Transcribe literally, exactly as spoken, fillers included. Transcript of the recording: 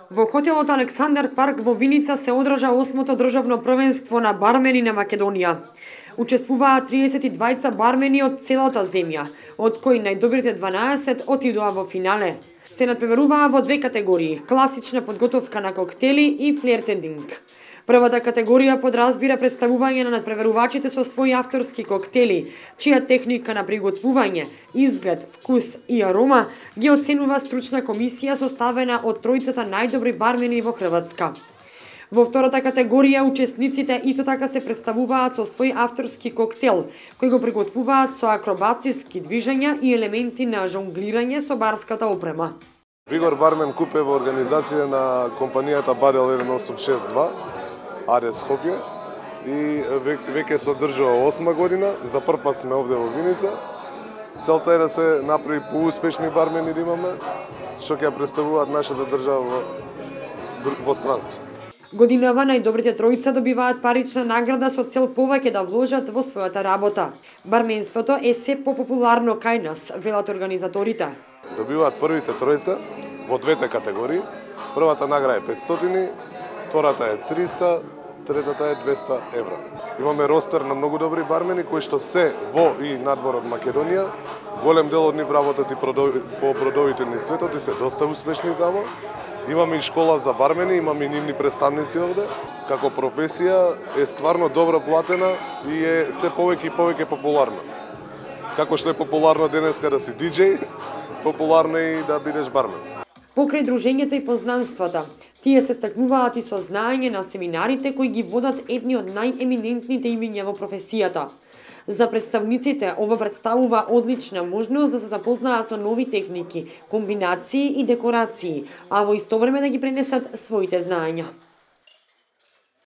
Во хотелот Александар парк во Виница се одржа осмото државно првенство на бармени на Македонија. Учествуваа триесет и двајца бармени од целата земја, од кои најдобрите дванаесет отидоа во финале. Се надпреваруваа во две категории: класична подготовка на коктели и флиртендинг. Првата категорија подразбира представување на надпреварувачите со своји авторски коктели, чија техника на приготвување, изглед, вкус и арома ги оценува стручна комисија составена од тројцата најдобри бармени во Хрватска. Во втората категорија учесниците исто така се представуваат со свој авторски коктел, кој го приготвуваат со акробациски движења и елементи на жонглирање со барската опрема. Вигор Бармен Куп е во организација на компанијата Барел еден осум шест два, Арес Скопје, и веќе се одржува осма година. За прв пат сме овде во Виница. Целта е да се направи поуспешни бармени да имаме, што ќе представуваат нашата држава во, во странство. Годинава најдобрите тројца добиваат парична награда со цел повеќе да вложат во својата работа. Барменството е се попопуларно кај нас, велат организаторите. Добиваат првите тројца во двете категории. Првата награда е петстотини, втората е триста, третата е двеста евра. Имаме ростер на многу добри бармени кои што се во и надвор од Македонија. Голем дел од нив работат и по бродовите низ светот и се доста успешни тамо. Имаме и школа за бармени, имаме и нивни представници овде. Како професија е стварно добро платена и е се повеќе и повеќе популарна. Како што е популарно денеска да си диџеј, популарно е и да бидеш бармен. Покрај дружењето и познанствата, тие се стакнуваат и со знаење на семинарите кои ги водат едни од најеминентните имиња во професијата. За представниците ова представува одлична можност да се запознаат со нови техники, комбинации и декорации, а во исто време да ги пренесат своите знаења.